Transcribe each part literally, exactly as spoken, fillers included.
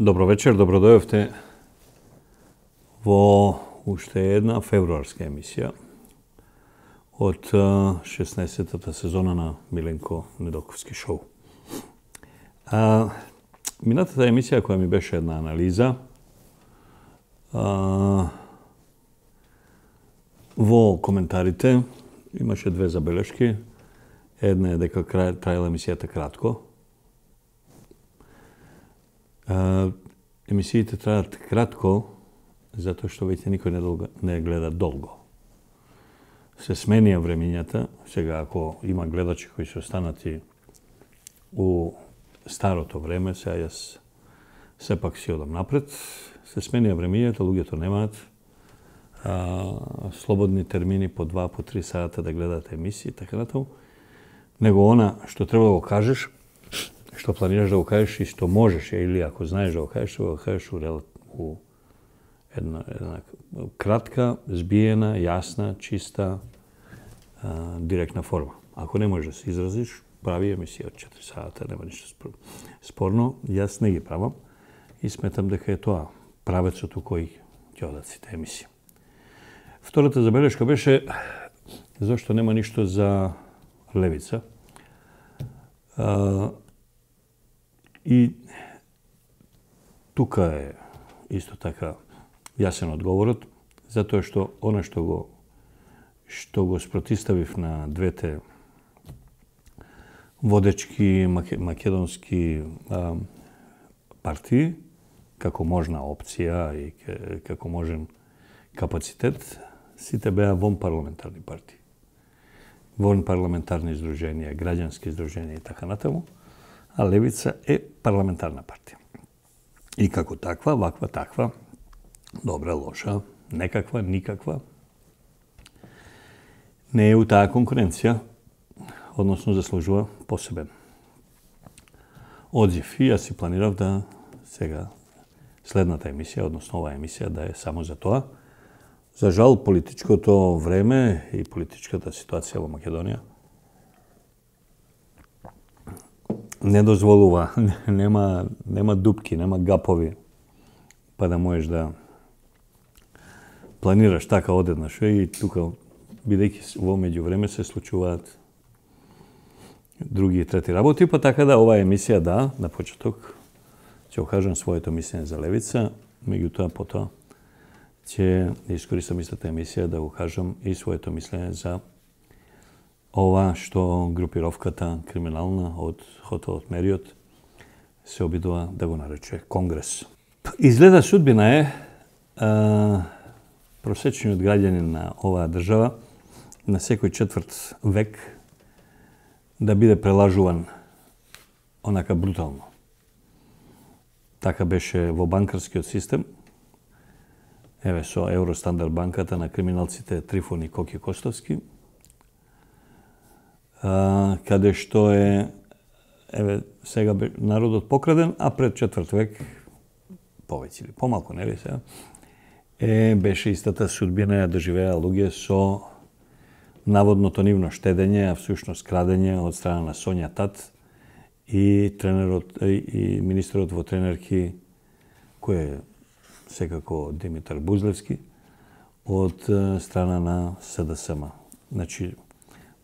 Добро вечер, добро дојавте во уште една февруарска емисија од шеснаесеттата сезона на Миленко Недоковски шоу. А, минатата емисија која ми беше една анализа а, во коментарите имаше две забелешки. Една е дека траела емисијата кратко. Uh, емисиите траат кратко затоа што веќе никој не, долго, не гледа долго. Се сменија времињата. Сега ако има гледачи кои се останати у старото време, сега јас сепак си одам напред, се сменија времињата, луѓето немаат а, слободни термини по два, по три сата да гледаат емисии, така натаму. Него она што треба да го кажеш, што планираш да го кажеш и што можеш, или ако знаеш да го кажеш, да го кажеш у, у една, една кратка, збиена, јасна, чиста, а, директна форма. Ако не можеш да се изразиш, прави емисија од четири сата, нема ништо спорно. Јас не ги правам и сметам дека е тоа правецот у кој ќе одат сите емисии. Втората забелешка беше зашто нема ништо за левица. А, И тука е исто така јасен одговорот, затоа што она што го што го спротиставив на двете водечки македонски а, партии како можна опција и како можен капацитет, сите беа вон парламентарни партии. Вон парламентарни издруженија, граѓански издруженија и така натаму. А левица е парламентарна партија. И како таква, ваква, таква, добра, лоша, некаква, никаква, не е у таа конкуренција, односно заслужува посебен одзив. И јас си планирав да сега следната емисија, односно оваа емисија, да е само за тоа. За жал, политичкото време и политичката ситуација во Македонија не дозволува, нема, нема дупки, нема гапови, па да можеш да планираш така одеднаш. И тука, бидејќи во меѓувреме се случуваат други и трети работи, па така да оваа емисија, да, на почеток ќе кажам своето мислење за левица, меѓутоа потоа ќе искористам истата емисија да го кажам и своето мислење за ова што групировката криминална од хотелот Мериот се обидува да го нарече Конгрес. Изгледа судбина е а, просечниот граѓанин на оваа држава на секој четврт век да биде прелажуван онака брутално. Така беше во банкарскиот систем. Еве со Евростандард банката на криминалците Трифон и Коки Костовски, Uh, каде што е, еве, сега народот покраден, а пред четврт век, повеќе или помалку, нели сега, е, беше истата судбина ја доживеа луѓе со наводното нивно штедење, а всушност крадење од страна на Сонја Тат и тренерот и министерот во тренерки, кој е секако Димитар Бузлевски, од страна на СДСМ. Значи,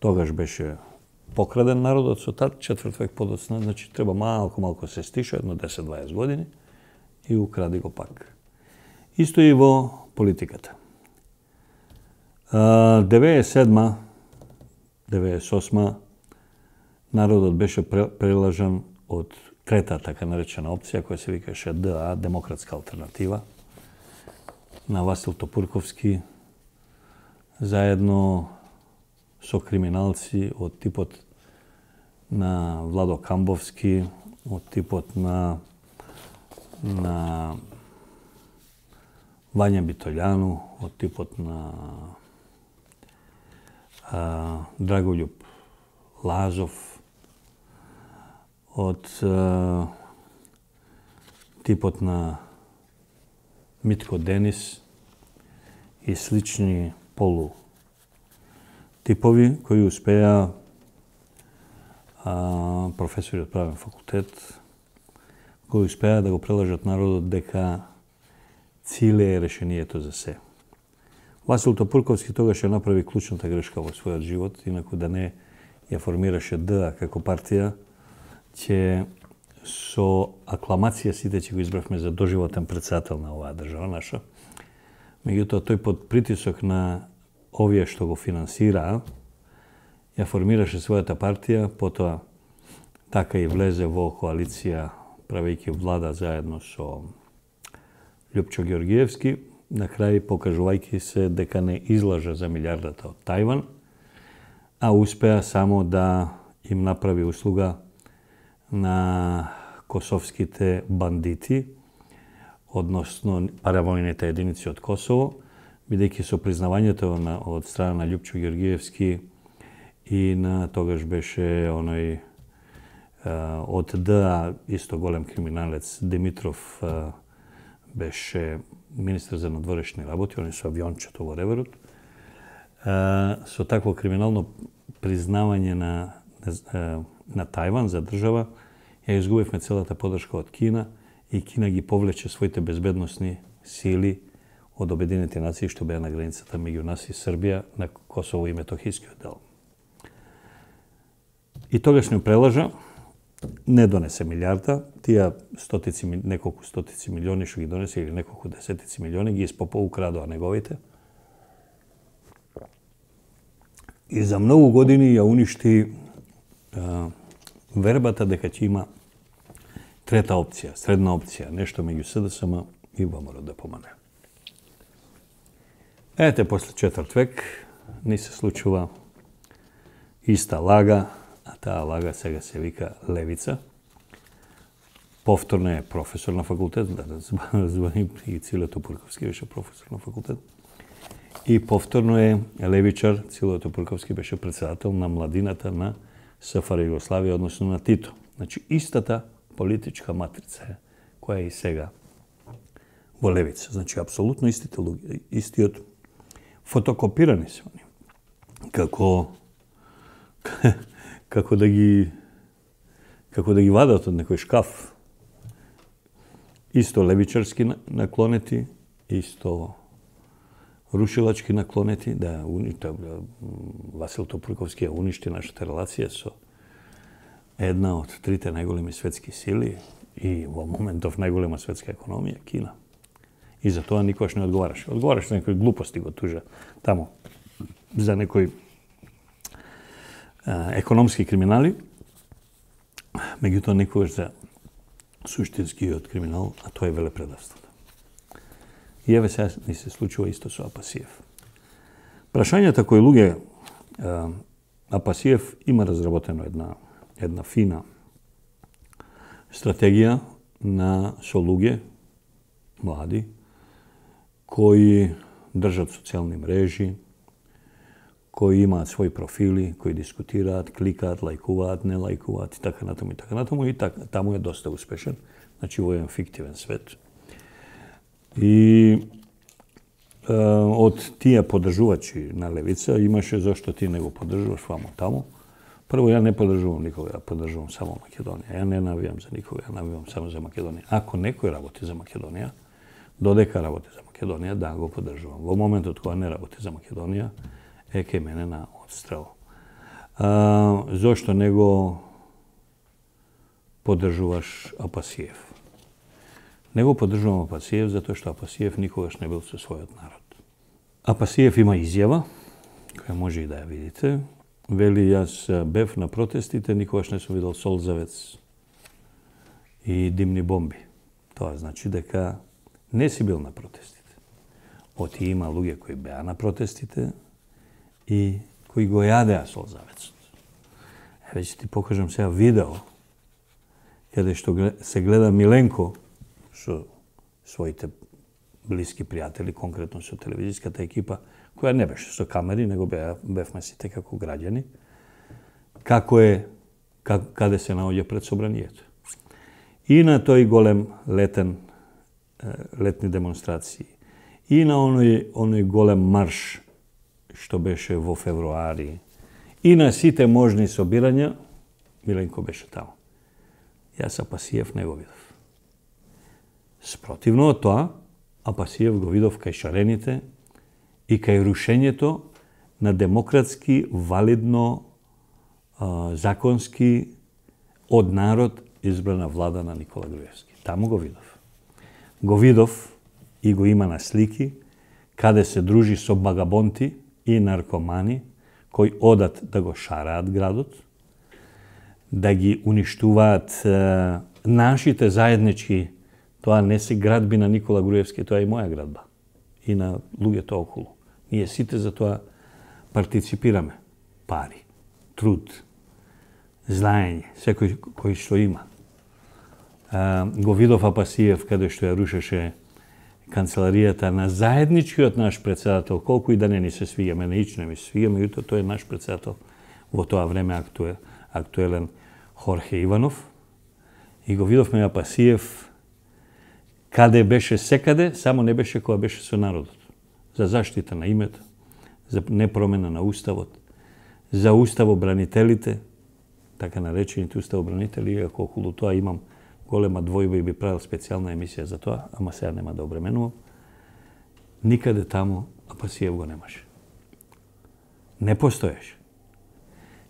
тогаш беше покраден народот со Тат, четврт век подоцна, значи треба малку малку се стиша, едно десет-дваесет години и укради го пак. Исто и во политиката. деветдесет и седма деветдесет и осма народот беше прелажан од трета така наречена опција која се викаше ДА, Демократска алтернатива, на Васил Топурковски, заедно со криминалци од типот на Владо Камбовски, од типот на на Вања Битолјану, од типот на а, Драголјуб Лазов, од а, типот на Митко Денис и слични полу типови кои успеа, а, професори од правен факултет, кои успеа да го прелажат народот дека Циле е решението за се. Васил Топурковски тогаш ја направи клучната грешка во својот живот, инаку да не ја формираше ДА како партија, ќе со акламација сите ќе го избравме за доживотен председател на оваа држава наша. Меѓутоа, тој под притисок на овие што го финансираа, ја формираше својата партија, потоа така и влезе во коалиција, правејќи влада заедно со Љупчо Ѓоргиевски, на крај покажувајќи се дека не излажа за милијардата од Тајван, а успеа само да им направи услуга на косовските бандити, односно паравојните единици од Косово, бидејќи со признавањето на, од страна на Љупчо Ѓоргиевски и на тогаш беше оној од ДА исто голем криминалец Димитров, беше министер за надворешни работи, они со авиончето во реверот. Со такво криминално признавање на, на, на Тајван за држава, ја изгубивме целата подршка од Кина и Кина ги повлече своите безбедносни сили од Обединетите нации што беа на границата меѓу нас и Србија на Косово и Метохискиот дел. И тогаш не прелажа, не донесе милијарда, тие стотици, неколку стотици милиони што ги донесе, или неколку десетици милиони, ги испопо украдоа неговите. И за многу години ја уништи а, вербата дека ќе има трета опција, средна опција, нешто меѓу СДСМ и ВМРО да помане. Ете, после четврт век ни се случува иста лага, а таа лага сега се вика левица. Повторно е професор на факултет, да звани и Циле Топурковски беше професор на факултет. И повторно е левичар, Циле Топурковски беше председател на младината на СФР Југославија, односно на Тито. Значи, истата политичка матрица е, која е и сега во левица. Значи, апсолутно истите луѓе, истиот фотокопирани се они. Како како да ги како да ги вадат од некој шкаф. Исто левичарски наклонети, исто рушилачки наклонети, да уништа Васил Топурковски уништи нашата релација со една од трите најголеми светски сили и во моментов најголема светска економија, Кина. И за тоа никогаш не одговараше. Одговараше за некои глупости, го тужа таму, за некои а, економски криминали, меѓутоа никогаш за суштинскиот криминал, а тоа е велепредавството. И еве сега ни се случува исто со Апасиев. Прашањата кои луѓе, а, Апасиев има разработено една една фина стратегија на со луѓе млади кои држат социјални мрежи, кои имаат своји профили, кои дискутираат, кликаат, лајкуваат, не лајкуваат и така натаму и така натаму и така, таму е доста успешен, значи во еден фиктивен свет. И е, од тие поддржувачи на левица имаше зашто ти не го поддржуваш вамо таму. Прво, ја не поддржувам никога, ја поддржувам само Македонија. Ја не навијам за никога, ја навијам само за Македонија. Ако некој работи за Македонија, додека работи за Македонија, да го поддржувам. Во моментот кога не работи за Македонија, е кај мене на одстрел. А, зошто не го поддржуваш Апасиев? Не го поддржувам Апасиев затоа што Апасиев никогаш не бил со својот народ. Апасиев има изјава, која може и да ја видите. Вели, јас бев на протестите, никогаш не сум видел солзавец и димни бомби. Тоа значи дека не си бил на протестите. Оти има луѓе кои беа на протестите и кои го јадеа солзавецот. Еве ќе ти покажам сега видео каде што се гледа Миленко со своите блиски пријатели, конкретно со телевизиската екипа, која не беше со камери, него беа, бевме сите како граѓани, како е, как, каде се наоѓа пред собранието. И на тој голем летен летни демонстрации, и на оној, оној голем марш што беше во февруари, и на сите можни собирања, Миленко беше таму. Јас Апасиев не го видов. Спротивно од тоа, Апасиев го видов кај шарените и кај рушењето на демократски, валидно, а, законски, од народ избрана влада на Никола Груевски. Таму го видов. Го видов и го има на слики, каде се дружи со багабонти и наркомани, кои одат да го шараат градот, да ги уништуваат е, нашите заеднички. Тоа не се градби на Никола Груевски, тоа е и моја градба. И на луѓето околу. Ние сите за тоа партиципираме. Пари, труд, знаење, секој кој што има. А, го видов Апасиев каде што ја рушеше канцеларијата на заедничкиот наш председател, колку и да не ни се свига, мене ично ми се свига, меѓутоа тој е наш председател во тоа време актуел, актуелен Хорхе Иванов. И го видовме Апасиев каде беше секаде, само не беше кога беше со народот. За заштита на името, за непромена на уставот, за уставобранителите, така наречените уставобранители, иако околу тоа имам голема двојба и би правил специјална емисија за тоа, ама сега нема да обременувам. Никаде таму Апасиев го немаше. Не постоеше.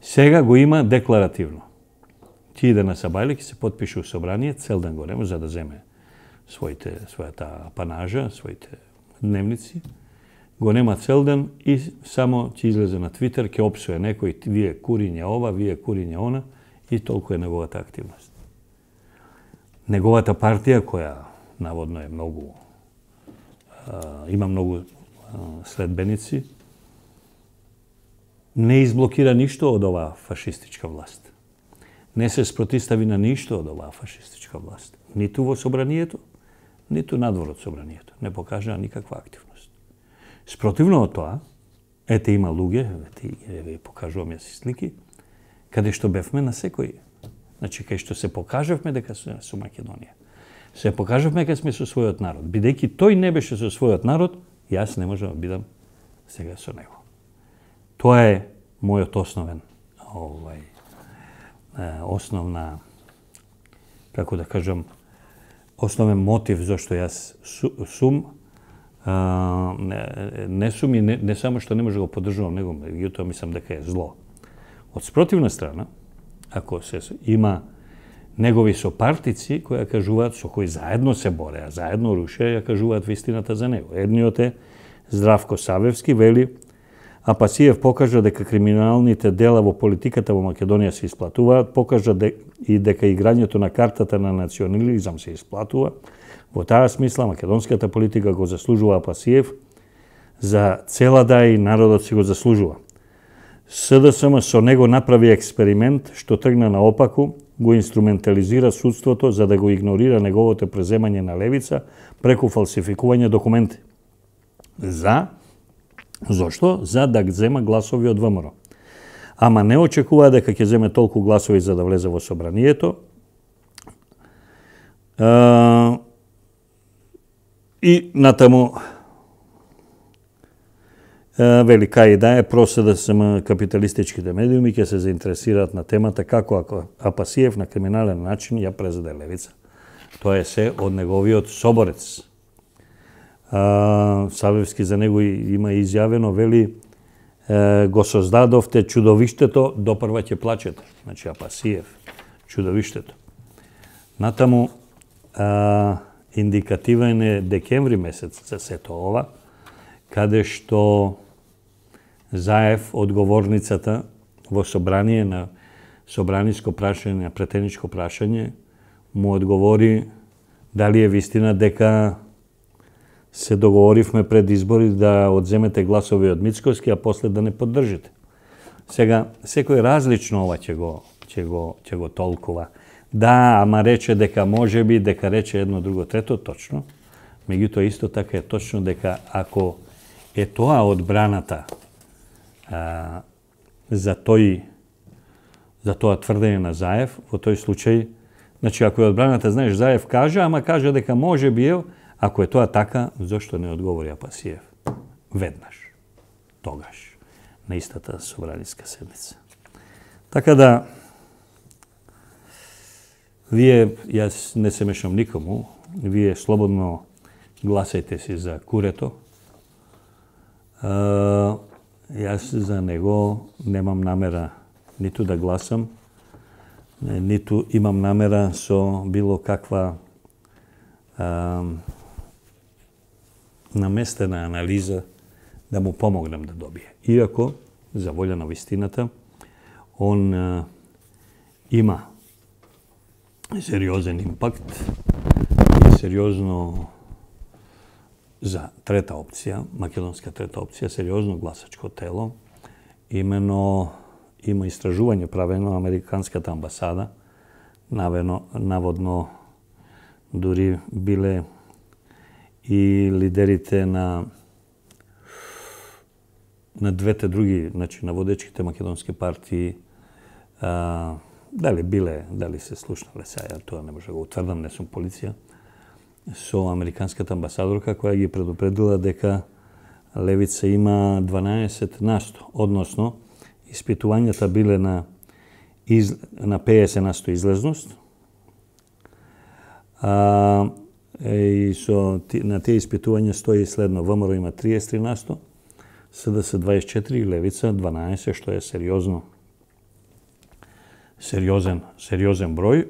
Сега го има декларативно. Ти иде на Сабајле, ќе се потпише у собрание, цел ден го нема за да земе своите, својата апанажа, своите дневници. Го нема цел ден и само ќе излезе на Твитер, ќе опсуе некој, вие куриње ова, вие куриње она, и толку е неговата активност. Неговата партија, која наводно е многу, а, има многу а, следбеници, не изблокира ништо од оваа фашистичка власт. Не се спротистави на ништо од оваа фашистичка власт. Ниту во собранието, ниту надвор од собранието. Не покажа никаква активност. Спротивно од тоа, ете има луѓе, ете ви покажувам ја си слики, каде што бевме на секој. Значи, кај што се покажавме дека сме со Македонија. Се покажавме дека сме со својот народ. Бидејќи тој не беше со својот народ, јас не можам да бидам сега со него. Тоа е мојот основен, овај, основна, како да кажам, основен мотив зашто јас сум, а, не, не сум и не, не само што не може да го поддржувам него, меѓутоа мислам дека е зло. Од спротивна страна, ако се има негови сопартици кои ја кажуваат, со кои заедно се бореа, заедно рушеа, ја кажуваат вистината за него. Едниот е Здравко Савевски, вели: Апасиев покажа дека криминалните дела во политиката во Македонија се исплатуваат, покажа де, и дека играњето на картата на национализам се исплатува. Во таа смисла македонската политика го заслужува Апасиев, за цела да и народот си го заслужува. СДСМ со него направи експеримент што тргна наопаку, го инструментализира судството за да го игнорира неговото преземање на левица преку фалсификување документи. За Зошто? За да зема гласови од ВМРО. Ама не очекува дека ќе земе толку гласови за да влезе во собранието. А, и натаму а, вели кај да е проседа сама капиталистичките медиуми ќе се заинтересираат на темата како ако Апасиев на криминален начин ја презеде левица. Тоа е се од неговиот соборец. Uh, Савевски за него има изјавено, вели, uh, го создадовте чудовиштето, допрва ќе плачете. Значи Апасиев, чудовиштето. Натаму, uh, индикативен е декември месец за сето ова, каде што Заев, одговорницата во собрание на собраниско прашање, на претеничко прашање, му одговори дали е вистина дека се договоривме пред избори да одземете гласови од Мицкоски, а после да не поддржите. Сега, секој различно ова ќе го, ќе го, ќе го толкува. Да, ама рече дека може би, дека рече едно, друго, трето, точно. Меѓутоа, исто така е точно дека ако е тоа одбраната а, за тој за тоа тврдење на Заев, во тој случај, значи ако е одбраната, знаеш, Заев кажа, ама кажа дека може би е, Ако е тоа така, зошто не одговори Апасиев веднаш, тогаш, на истата собраниска седница. Така да, вие, јас не се мешам никому, вие слободно гласајте си за Курето. А, јас за него немам намера ниту да гласам, ниту имам намера со било каква а, наместена анализа да му помогнем да добие. Иако, за волја на вистината, он а, има сериозен импакт и сериозно за трета опција, македонска трета опција, сериозно гласачко тело. Имено има истражување правено американската амбасада, навено, наводно дури биле и лидерите на на двете други, значи на водечките македонски партии, а, дали биле, дали се слушнале сега, тоа не може да го утврдам, не сум полиција, со американската амбасадорка која ги предупредила дека левица има дванаесет насто, односно испитувањата биле на из, на педесет насто излезност, а, и со на тие испитувања стои следно: ВМРО има триесет и три насто, СДС дваесет и четири и Левица дванаесет, што е сериозно, сериозен, сериозен број.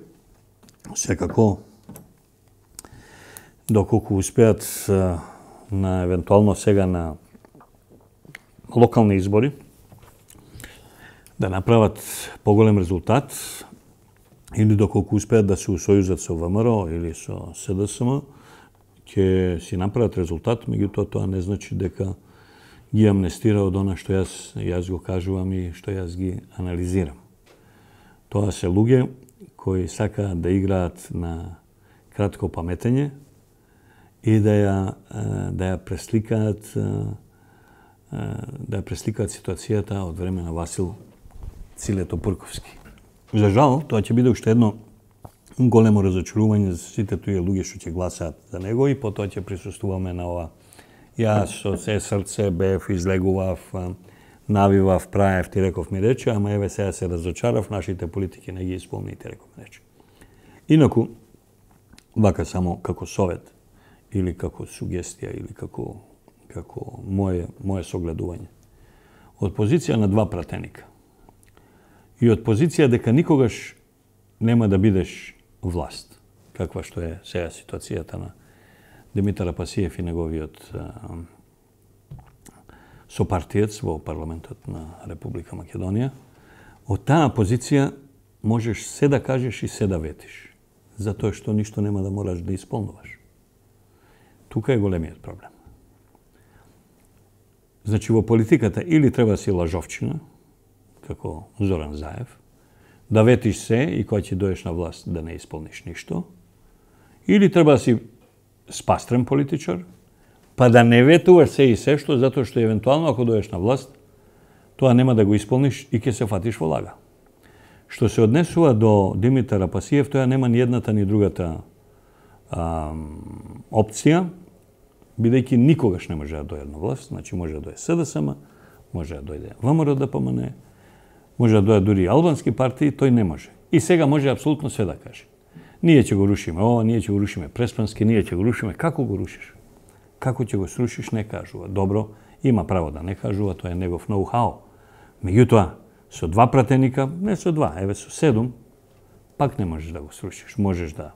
Секако, доколку успеат на евентуално сега на локални избори да направат поголем резултат, или доколку успеат да се усојузат со ВМРО или со СДСМ, ќе си направат резултат, меѓутоа тоа не значи дека ги амнестира од она што јас, јас го кажувам и што јас ги анализирам. Тоа се луѓе кои сакаат да играат на кратко паметење и да ја, да ја пресликаат да ја пресликаат ситуацијата од време на Васил Цилето Пурковски. За жал, тоа ќе биде уште едно големо разочарување за сите тие луѓе што ќе гласаат за него и потоа ќе присуствуваме на ова. Јас со се срце бев, излегував, навивав, праев, ти реков ми рече, ама еве сега се разочарав, нашите политики не ги исполни, ти реков ми рече. Инаку, вака само како совет, или како сугестија, или како, како моje, моje согледување. Од позиција на два пратеника и од позиција дека никогаш нема да бидеш власт, каква што е сега ситуацијата на Димитар Апасиев и неговиот сопартиец во парламентот на Република Македонија, од таа позиција можеш се да кажеш и се да ветиш, затоа што ништо нема да мораш да исполнуваш. Тука е големиот проблем. Значи, во политиката или треба си лажовчина, како Зоран Заев, да ветиш се и кога ќе доеш на власт да не исполниш ништо, или треба да си спастрен политичар, па да не ветуваш се и се што, затоа што евентуално ако доеш на власт, тоа нема да го исполниш и ќе се фатиш во лага. Што се однесува до Димитар Апасиев, тоа нема ни едната ни другата а, опција, бидејќи никогаш не може да дојде на власт, значи може да дојде СДСМ, може да дојде ВМРО ДПМН, може да дојде дури албански партии, тој не може. И сега може апсолутно све да каже. Ние ќе го рушиме ова, ние ќе го рушиме Преспански, ние ќе го рушиме. Како го рушиш? Како ќе го срушиш, не кажува. Добро, има право да не кажува, тоа е негов ноу-хау. Меѓутоа, со два пратеника, не со два, еве со седум, пак не можеш да го срушиш. Можеш да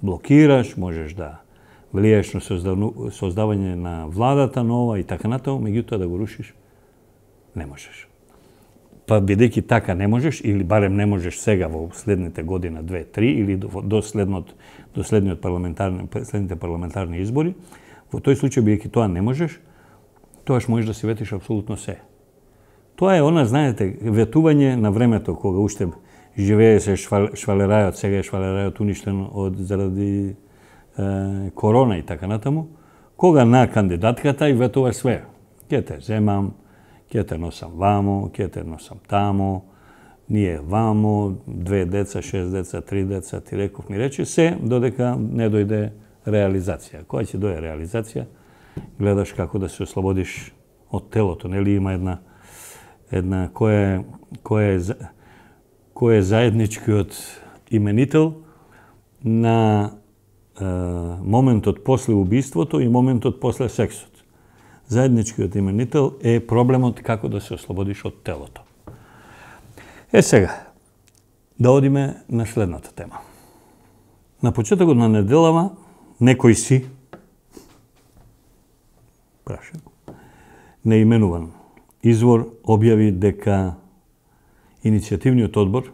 блокираш, можеш да влиеш на создавање на владата нова и така натаму, меѓутоа да го рушиш, не можеш. Па бидејќи така не можеш, или барем не можеш сега во следните година, две, три, или до, до, следнот, до следниот парламентарни, следните парламентарни избори, во тој случај, бидејќи тоа не можеш, тоаш можеш да си ветиш апсолутно се. Тоа е она, знаете, ветување на времето, кога уште живее се швал, швалерајот, сега е швалерајот уништен од, заради е, корона и така натаму, кога на кандидатката и ветуваш све. Ке те земам, ќе те носам вамо, ќе те носам тамо, ние вамо, две деца, шест деца, три деца, ти реков ми рече се, додека не дојде реализација. Кога ќе дое реализација, гледаш како да се ослободиш од телото, нели има една една која е која е кој е заедничкиот именител на е, моментот после убиството и моментот после сексот. Заедничкиот именител е проблемот како да се ослободиш од телото. Е сега, да одиме на следната тема. На почетокот на неделава некој си, прашам, неименуван извор објави дека иницијативниот одбор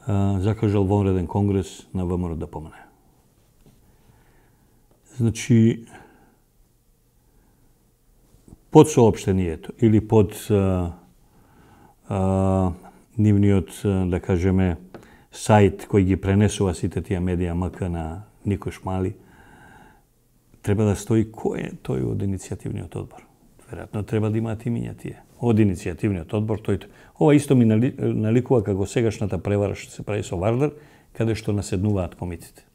а, закажал вонреден конгрес на ВМРО да помине. Значи, под соопштението или под а, а, нивниот, да кажеме, сајт кој ги пренесува сите тие медија МК на Никош Мали, треба да стои кој е тој од иницијативниот одбор. Веројатно треба да имаат имиња тие. Од иницијативниот одбор, тој... Ова исто ми нали, наликува како сегашната превара што се прави со Вардар, каде што наседнуваат комитите.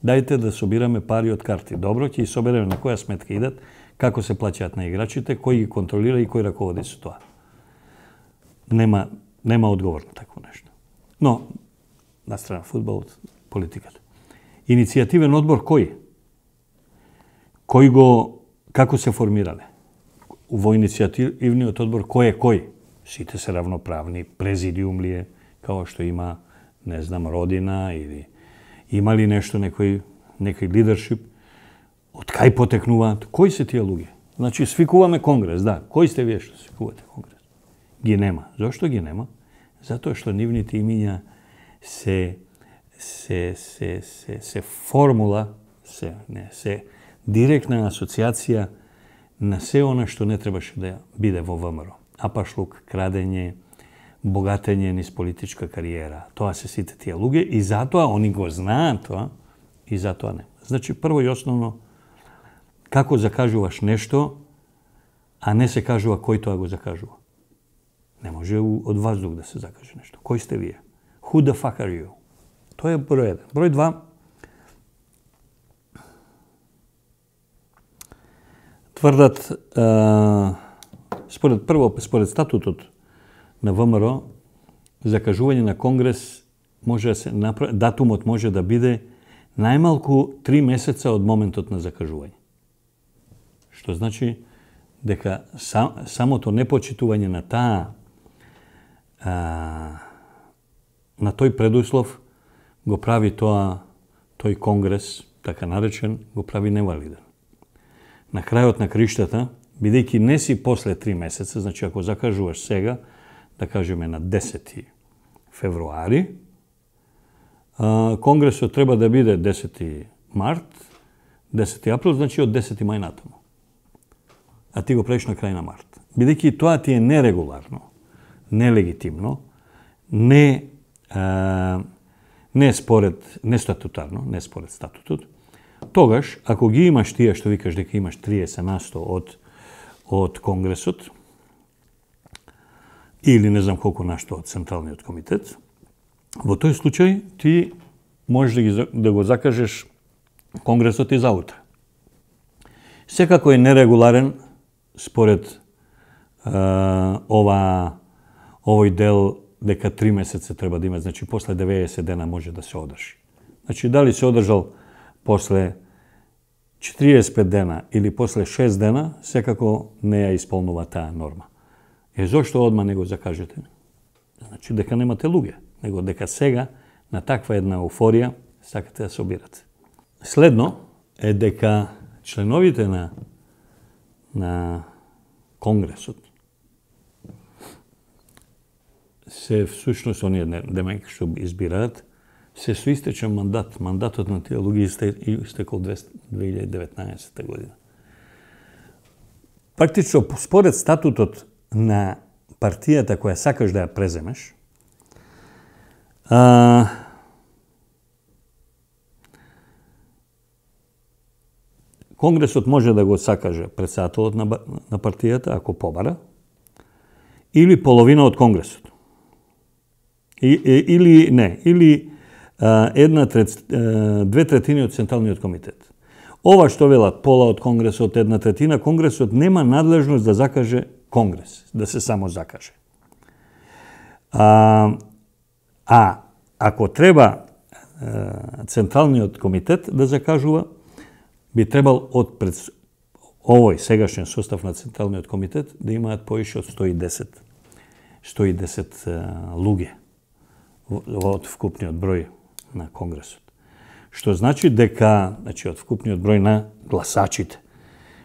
Дајте да собираме пари од карти. Добро, ќе ги собереме на која сметка идат, како се плаќаат на играчите, кој ги контролира и кој раководи со тоа. Нема, нема одговор на такво нешто. Но, на страна фудбалот, политиката. Иницијативен одбор кој? Кој го, како се формирале? Во иницијативниот одбор кој е кој? Сите се равноправни, президиум ли е, као што има, не знам, Родина или има ли нешто, некој, некој лидершип? Од кај потекнуваат? Кои се тие луѓе? Значи, свикуваме конгрес, да. Кои сте вие што свикувате конгрес? Ги нема. Зошто ги нема? Затоа што нивните имиња се, се, се, се, се формула, се, не, се директна асоциација на се она што не требаше да биде во ВМРО. Апашлук, крадење, богатење низ политичка кариера. Тоа се сите тие луѓе и затоа они го знаат тоа и затоа не. Значи, прво и основно, како закажуваш нешто, а не се кажува кој тоа го закажува. Не може од воздух да се закаже нешто. Кој сте вие? Who the fuck are you? Тоа е број еден. Број два. Тврдат, а, според прво, според статутот на ВМРО, закажување на конгрес може да се направи, датумот може да биде најмалку три месеца од моментот на закажување. Што значи дека сам, самото непочитување на таа а, на тој предуслов го прави тоа, тој конгрес, така наречен, го прави невалиден. На крајот на криштата, бидејќи не си после три месеца, значи ако закажуваш сега, да кажеме на десети февруари, а, конгресот треба да биде десети март, десети април, значи од десети мај натаму. А ти го правиш на крај на март. Бидејќи тоа ти е нерегуларно, нелегитимно, не, а, не според, не статутарно, не според статутот, тогаш, ако ги имаш тие што викаш дека имаш триесет на сто од, од Конгресот, или не знам колку нашто од Централниот комитет, во тој случај ти можеш да, ги, да го закажеш Конгресот и за утре. Секако е нерегуларен според а, ова, овој дел дека три месеца треба да има, значи после деветдесет дена може да се одржи. Значи дали се одржал после четириесет и пет дена или после шест дена, секако не ја исполнува таа норма. Е, зошто одма не го закажете? Значи дека немате луѓе, него дека сега на таква една еуфорија сакате да се обирате. Следно е дека членовите на, на Конгресот се всушност оние демек што избираат се со истечен мандат. Мандатот на тие луѓе истекол две илјади и деветнаесетта година. Практично, според статутот на партијата која сакаш да ја преземеш, а, Конгресот може да го сакаже претседателот на, на партијата, ако побара, или половина од Конгресот. И, и, или не, или една трет, две третини од Централниот комитет. Ова што велат пола од Конгресот, една третина, Конгресот нема надлежност да закаже Конгрес, да се само закаже. А, а ако треба Централниот комитет да закажува, би требал од пред овој сегашен состав на Централниот комитет да имаат поише од сто и десет луѓе од вкупниот број на Конгресот. Што значи дека, значи од вкупниот број на гласачите,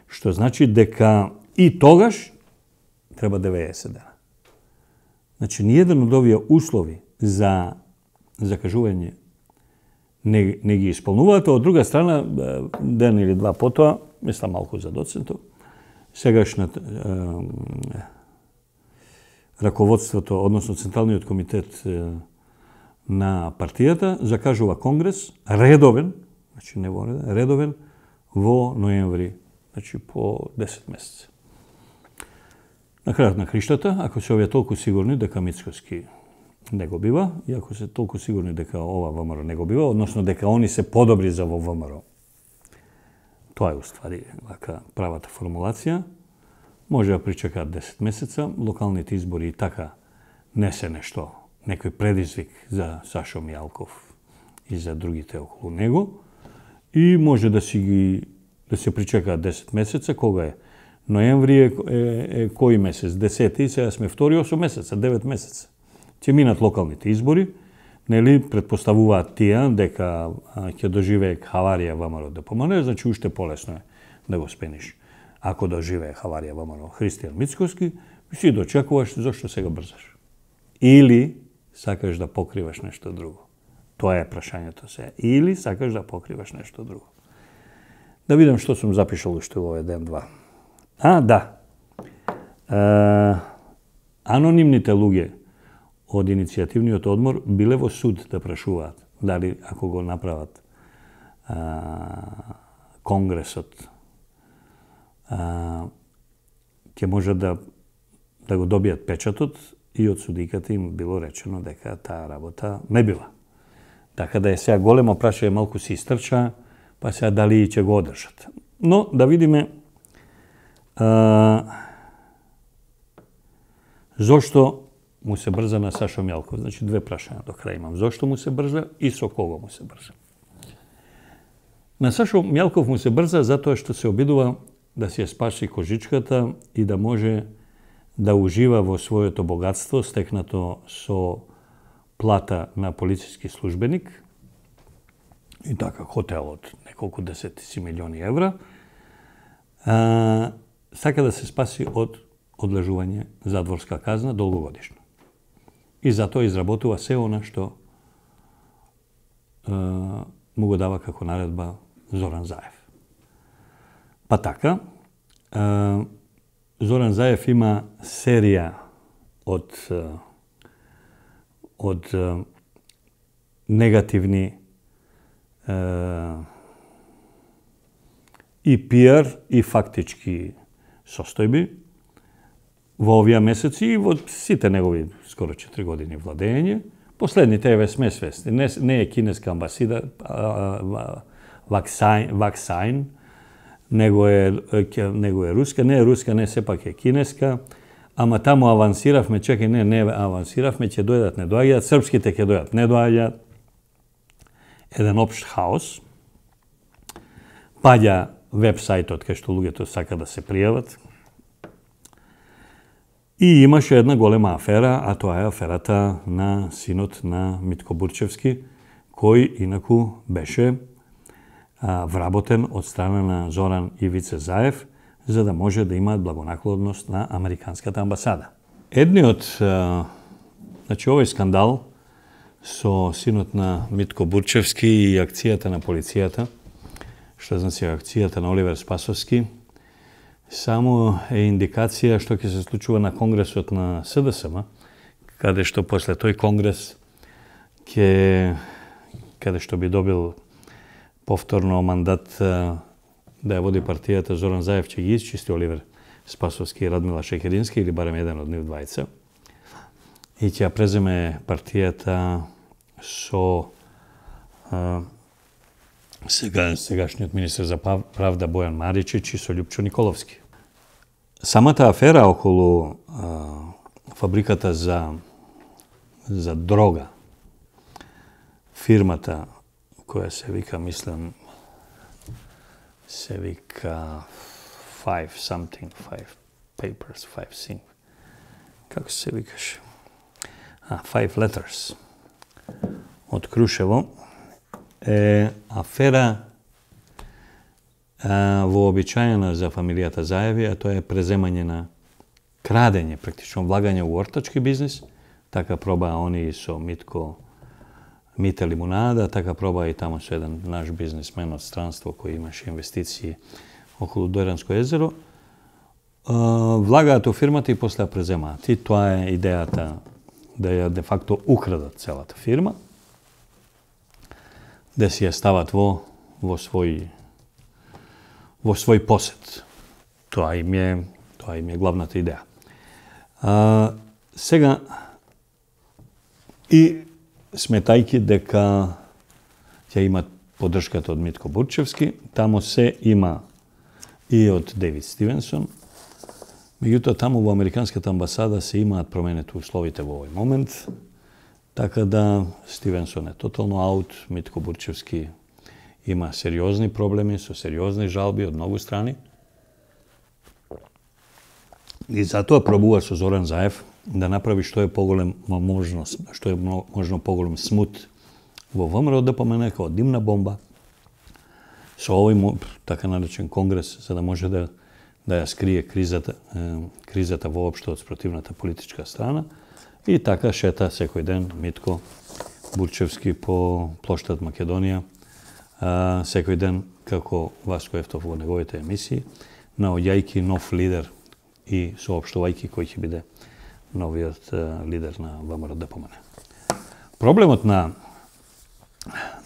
што значи дека и тогаш треба деветдесет дена. Значи, ниеден од овие услови за закажување не, не ги исполнуваат, од друга страна, ден или два потоа, мислам малку за доцентов, сегашниот е, раководството, односно Централниот комитет е, на партијата, закажува Конгрес редовен, значи не во редовен, редовен во ноември, значи по десет месеци. На крајот на криштата, ако се овие толку сигурни дека Мицкоски не го бива, и ако се толку сигурни дека ова ВМРО не го бива, односно дека они се подобри за во ВМРО, тоа е уствари вака правата формулација, може да причекаат десет месеца, локалните избори и така не се нешто, некој предизвик за Сашо Мијалков и за другите околу него, и може да си ги да се причекаат десет месеца, кога е ноември е, е, е кој месец? десети, сега сме втори, осум месеца, девет месеца. Ќе минат локалните избори, нели претпоставуваат тие дека ќе доживее хаварија ВМРО да помане, значи уште полесно е да го спениш. Ако доживее хаварија ВМРО Христијан Мицкоски, си дочекуваш зошто сега брзаш. Или сакаш да покриваш нешто друго. Тоа е прашањето се. Или сакаш да покриваш нешто друго. Да видам што сум запишал уште во овој ден-два. А, да. Е, анонимните луѓе од иницијативниот одмор биле во суд да прашуваат дали ако го направат а, Конгресот а, ќе може да да го добијат печатот, и од судиката им било речено дека таа работа не била. Така да е сега големо прашање, малку се истрча, па сега дали ќе го одржат. Но да видиме а, зошто му се брза на Сашо Мијалков. Значи, две прашања до крај имам. Зошто му се брза и со кого му се брза? На Сашо Мијалков му се брза затоа што се обидува да си ја спаси кожичката и да може да ужива во своето богатство, стекнато со плата на полициски службеник, и така хотел од неколку десетици милиони евра, а, сака да се спаси од одлежување задворска казна долгогодишно. И затоа изработува се она што а, му го дава како наредба Зоран Заев. Па така, а, Зоран Заев има серија од од негативни е, и пиар и фактички состојби во овие месеци и во сите негови скоро четири години владење. Последните еве сме свесни. Не, не е кинеска амбасада, Ваксайн, Ваксайн, него е, него е руска, не е руска, не сепак е кинеска, ама таму авансиравме, чекај, не, не авансиравме, ќе дојдат, не доаѓаат, српските ќе дојдат, не доаѓаат. Еден општ хаос. Паѓа веб-сајтот кај што луѓето сака да се пријават. И имаше една голема афера, а тоа е аферата на синот на Митко Бурчевски, кој инаку беше а, вработен од страна на Зоран Ивице Заев, за да може да имаат благонаклонност на Американската амбасада. Едниот, а, значи овој скандал со синот на Митко Бурчевски и акцијата на полицијата, што значи акцијата на Оливер Спасовски, само е индикација што ќе се случува на конгресот на СДСМ, каде што после тој конгрес ќе каде што би добил повторно мандат да ја води партијата Зоран Заев, ќе ги исчисти Оливер Спасовски и Радмила Шекерински, или барем еден од нив двајца, и ќе ја преземе партијата со а, сега сегашниот министер за правда Бојан Маричич и со Љупчо Николовски. Самата афера околу а, фабриката за за дрога, фирмата која се вика, мислам, се вика Five something, Five Papers, Five thing. Како се викаше? А, Five Letters. Од Крушево е афера а, вообичаена за фамилијата Заеви, а тоа е преземање на крадење, практично влагање у ортачки бизнис. Така проба они со Митко Мите Лимунада, така проба и тамо со еден наш бизнисмен од странство кој имаше инвестиции околу Дојранско езеро. Влагаат у фирмата и после ја преземаат. И тоа е идејата да ја де факто украдат целата фирма, да си ја стават во во свој во свој посет. Тоа им е тоа им е главната идеја. А, сега и сметајки дека ќе имат поддршката од Митко Бурчевски, тамо се има и од Дейвид Стивенсон. Меѓутоа, тамо во Американската амбасада се имаат променети условите во овој момент, така да Стивенсон е тотално аут, Митко Бурчевски има сериозни проблеми, со сериозни жалби од многу страни. И затоа пробува со Зоран Заев да направи што е поголем можност, што е можно поголем смут во ВМРО ДПМН како димна бомба со овој така наречен конгрес, за да може да да ја скрие кризата, кризата воопшто од спротивната политичка страна. И така шета секој ден Митко Бурчевски по плоштад Македонија, секој ден како Васко Ефтов во неговите емисии, наоѓајќи нов лидер и соопштувајќи кој ќе биде новиот лидер на ВМРО ДПМН. Проблемот на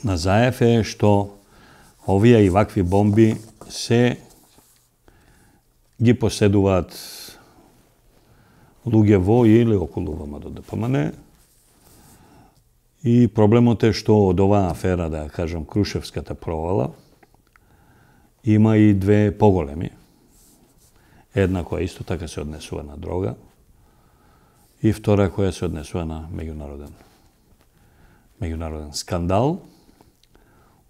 на Заев е што овие и вакви бомби се ги поседуваат луѓе во или околу ВМРО ДПМН. И проблемот е што од оваа афера, да кажам, Крушевската провала, има и две поголеми. Една која исто така се однесува на дрога и втора која се однесува на меѓународен меѓународен скандал,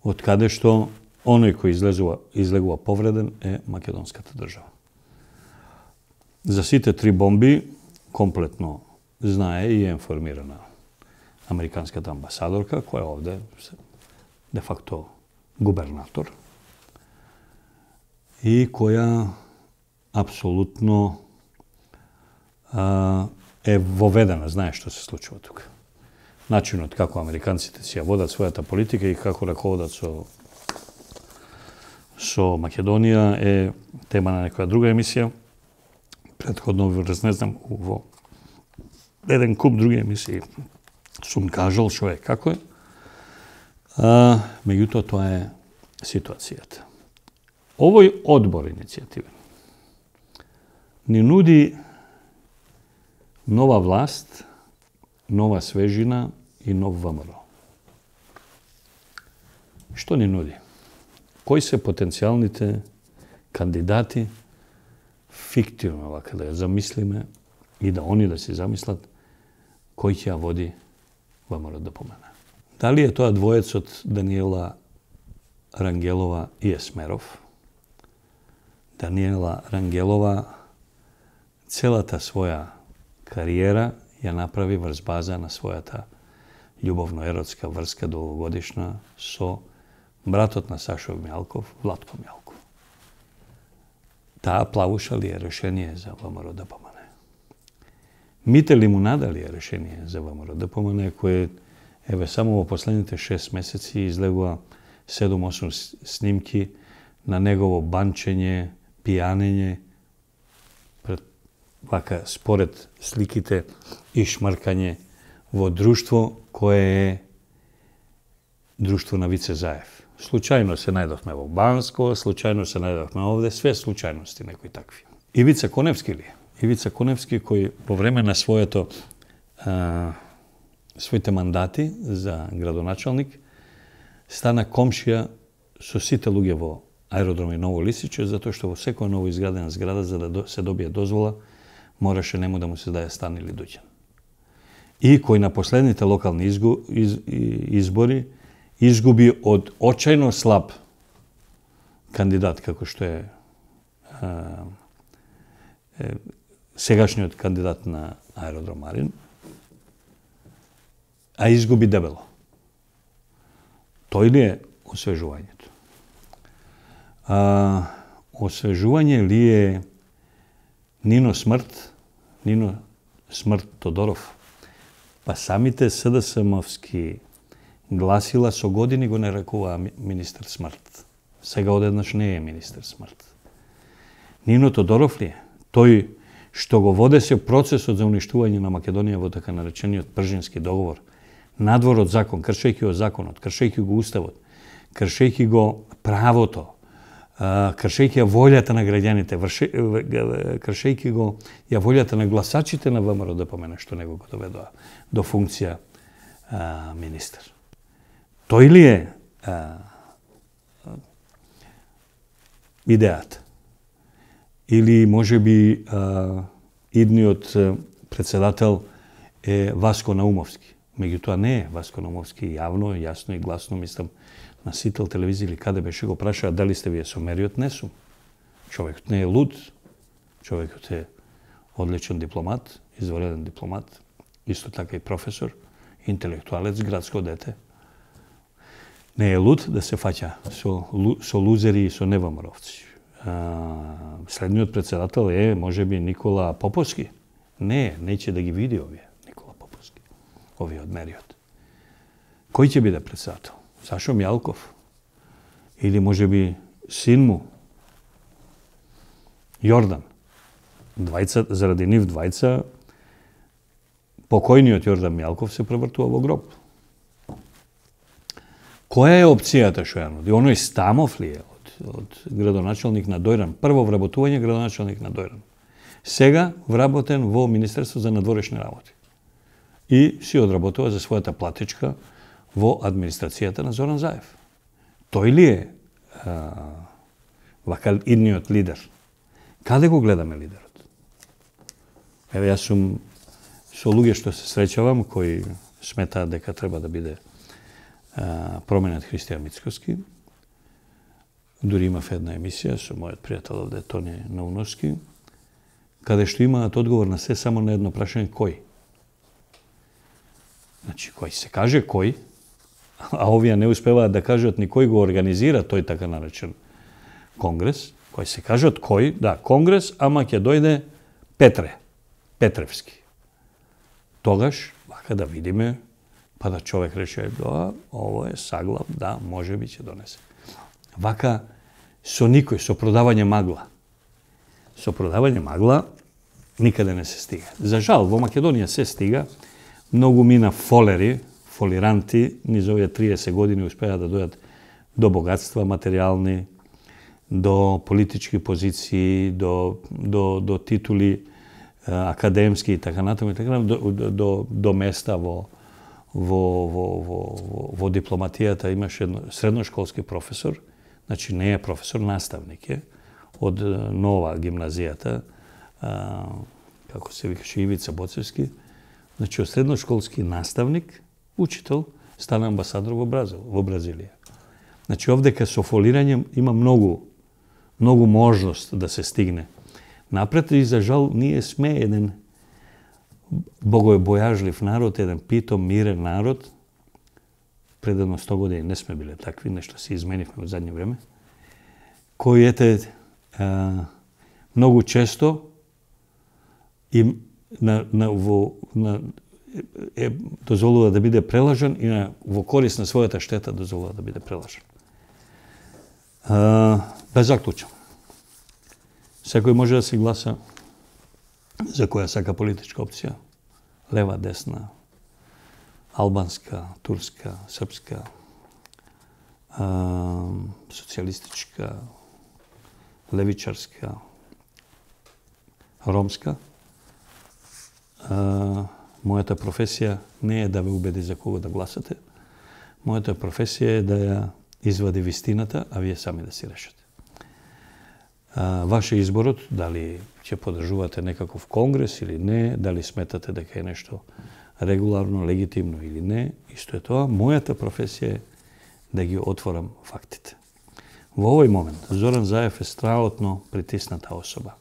од каде што оној кој излезува, излегува повреден е македонската држава. За сите три бомби комплетно знае и е информирана американската амбасадорка, која овде де факто губернатор и која апсолутно а, е воведена, знае што се случува тука. Начинот како американците си ја водат својата политика и како раководат со со Македонија е тема на некоја друга емисија. Претходно ви разнезнам во еден куп други емисии сум кажал што е како е. А, меѓутоа тоа е ситуацијата. Овој одбор иницијативен ни нуди нова власт, нова свежина и нов ВМРО. Што ни нуди? Кои се потенцијалните кандидати, фиктивно вака да ја замислиме и да они да си замислат кој ќе ја води ВМРО ДПМН? Дали е тоа двоецот Даниела Рангелова и Есмеров? Даниела Рангелова целата своја кариера ја направи врз база на својата љубовно-еротска врска долгогодишна со братот на Сашо Мјалков, Владко Мјалков. Таа плавуша ли е решение за ВМРО ДПМН? Мите Лимунада ли е решение за ВМРО ДПМН, кој еве само во последните шест месеци излегува седум-осум снимки на негово банчење, пијанење, пред вака според сликите и шмркање во друштво кое е друштво на Вице Заев. Случајно се најдовме во Банско, случајно се најдовме овде, све случајности некои такви. Ивица Коневски ли? Ивица Коневски кој по време на своето а, своите мандати за градоначалник стана комшија со сите луѓе во аеродром и Ново Лисиче, затоа што во секоја ново изградена зграда, за да се добие дозвола, мораше нему да му се даде стан или доќен. И кој на последните локални изгу, из, избори изгуби од очајно слаб кандидат, како што е, а, е сегашниот кандидат на аеродром Марин, а изгуби дебело. Тој ли е освежувањето? А, освежување ли е Нино Смрт, Нино Смрт Тодоров? Па самите СДСМовски гласила со години го нарекуваа министер Смрт. Сега одеднаш не е министер Смрт. Нино Тодоров ли е? Тој што го водеше процесот за уништување на Македонија во така наречениот Пржински договор, надвор од закон, кршејќи го законот, кршејќи го уставот, кршејќи го правото, кршејќи ја волјата на граѓаните, кршејќи го ја волјата на гласачите на ВМРО ДПМ, што него го доведоа до функција а, министер. Тој ли е а, идејата? Или може би а, идниот председател е Васко Наумовски? Меѓутоа не е Васко Наумовски, јавно, јасно и гласно, мислам, на Сител телевизија или каде беше го прашаа дали сте вие со мериот, не сум. Човекот не е луд, човекот е одличен дипломат, извареден дипломат, исто така и професор, интелектуалец, градско дете. Не е луд да се фаќа со, со лузери и со невамаровци. Следниот председател е, може би, Никола Поповски. Не, неќе да ги види овие, Никола Поповски, овие од мериот. Кој ќе биде председател? Сашо Мјалков? Или може би син му? Јордан? Двајца, заради нив двајца, покојниот Јордан Мјалков се превртува во гроб. Која е опцијата што ја нуди? Оној Стамов ли е од, од градоначалник на Дојран? Прво вработување градоначалник на Дојран. Сега вработен во Министерство за надворешни работи. И си одработува за својата платичка во администрацијата на Зоран Заев. Тој ли е а, вака идниот лидер? Каде го гледаме лидерот? Еве, јас сум со луѓе што се среќавам, кои сметаат дека треба да биде а, променет Христијан Мицкоски. Дури имав една емисија со мојот пријател овде, Тони Науновски, каде што имаат одговор на се само на едно прашање: кој? Значи, кој се каже кој, а овие не успеваат да кажат ни кој го организира тој така наречен конгрес, кој се кажат кој, да, конгрес, ама ќе дојде Петре, Петревски. Тогаш, вака да видиме, па да човек рече, да, ово е саглав, да, може би ќе донесе. Вака, со никој, со продавање магла. Со продавање магла никаде не се стига. За жал, во Македонија се стига, многу мина фолери, фолиранти, низ овие триесет години успеа да дојат до богатства материјални, до политички позиции, до, до, до титули академски и така натаму, и така натаму, до, до, до места во, во, во, во, во дипломатијата. Имаше едно средношколски професор, значи не е професор, наставник е, од Нова гимназијата, а, како се викаше, Ивица Боцевски. Значи, од средношколски наставник, учител, стана амбасадор во Бразил, во Бразилија. Значи, овдека со фолирање има многу, многу можност да се стигне напред, и за жал ние сме еден богојбојажлив народ, еден питом, мирен народ. Пред едно сто години не сме биле такви, нешто се изменивме во задње време, кои ете а, многу често и на, на, во, на, е, дозволува да биде прелажан и на, во корист на својата штета дозволува да биде прелажан. А, да заклучам. Секој може да се гласа за која сака политичка опција. Лева, десна, албанска, турска, српска, а, социјалистичка, левичарска, ромска. А, мојата професија не е да ве убеди за кого да гласате. Мојата професија е да ја извади вистината, а вие сами да си решите. А, ваше изборот, дали ќе подржувате некаков конгрес или не, дали сметате дека е нешто регуларно, легитимно или не, исто е тоа. Мојата професија е да ги отворам фактите. Во овој момент Зоран Заев е страотно притисната особа.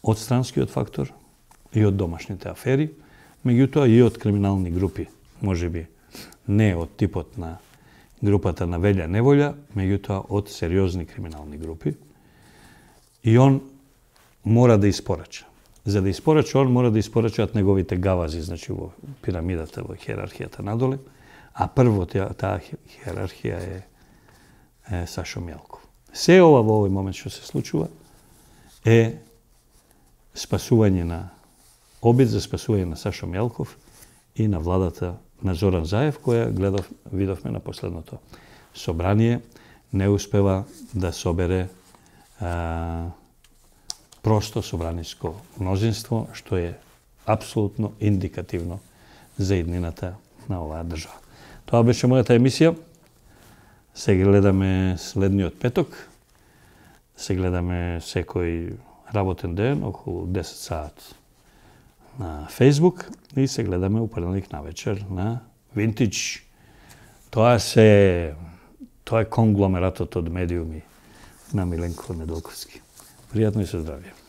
Од странскиот фактор и од домашните афери, меѓутоа и од криминални групи, можеби не од типот на групата на Велја Неволја, меѓутоа од сериозни криминални групи. И он мора да испорача. За да испорача, он мора да испорачаат неговите гавази, значи во пирамидата, во хиерархијата надоле, а прво таа, таа хиерархија е, е Сашо Мјалков. Се ова во овој момент што се случува е спасување на обид за спасување на Сашо Мјалков и на владата на Зоран Заев, која гледав, видовме на последното собрание, не успева да собере а, просто собраниско мнозинство, што е апсолутно индикативно за иднината на оваа држава. Тоа беше мојата емисија. Се гледаме следниот петок. Се гледаме секој работен ден, околу десет саат на Facebook и се гледаме у понеделник навечер на Vintage. Тоа се тоа е конгломератот од медиуми на Миленко Неделковски. Пријатно и се здравје.